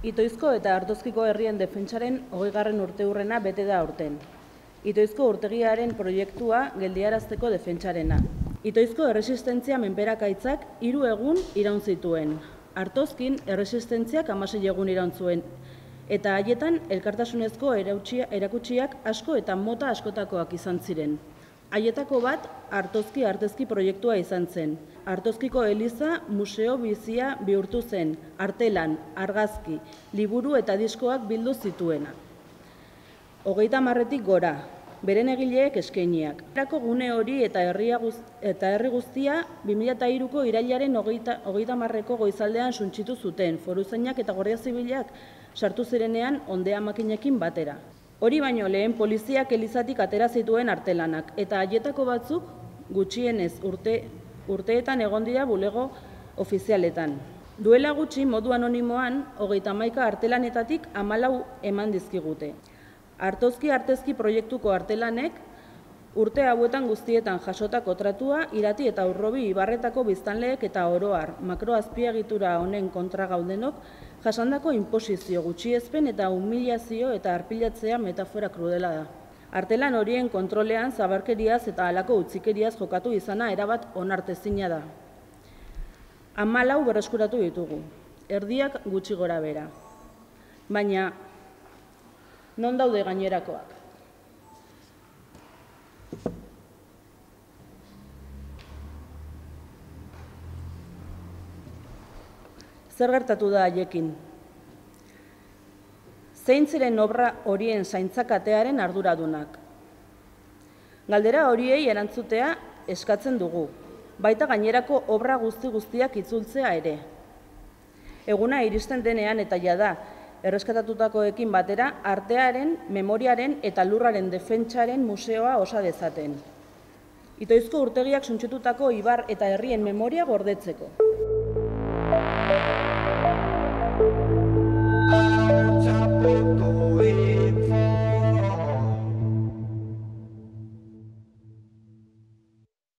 Itoizko eta Artozkiko herrien defentsaren 20. urteurrena bete da aurten. Itoizko urtegiaren proiektua geldiarazteko defentsarena. Itoizko erresistentzia menperakaitzak 3 egun iraun zituen. Artozkin erresistentziak 16 egun iraun zuen. Eta haietan elkartasunezko erakutsiak asko eta mota askotakoak izan ziren. Haietako bat Artozki artezki proiektua izan zen. Artozkiko eliza museo bizia bihurtu zen, artelan, argazki, liburu eta diskoak bildu zituena. 30 gora, beren egileek eskainiak. Erako gune hori eta herri guztia 2003ko irailaren 30ko goizaldean suntsitu zuten, foruzainak eta Guardia Zibilak sartu zirenean ondea makinekin batera. Hori baino lehen poliziak elizatik atera zituen artelanak, eta haietako batzuk gutxienez urteetan egon dira bulego ofizialetan. Duela gutxi modu anonimoan 31 artelanetatik 14 eman dizkigute. Artozki artezki proiektuko artelanek urte hauetan guztietan jasotako tratua Irati eta Urrobi ibarretako biztanleek eta oroar makroazpiegitura honen kontra gaudenok jasandako inposizio, gutxiespen eta humilazio eta arpilatzea metafora krudela da. Artelan horien kontrolean zabarkeriaz eta halako utzikeriaz jokatu izana erabat onartezina da. 14 berreskuratu ditugu, erdiak gutxi gora bera. Baina, non daude gainerakoak? Zer gertatu da haiekin? Zein ziren obra horien zaintzakatearen arduradunak? Galdera horiei erantzutea eskatzen dugu, baita gainerako obra guztiak itzultzea ere. Eguna iristen denean eta jada erreskatatutakoekin batera artearen, memoriaren eta lurraren defentsaren museoa osa dezaten. Itoizko urtegiak suntsitutako ibar eta herrien memoria gordetzeko.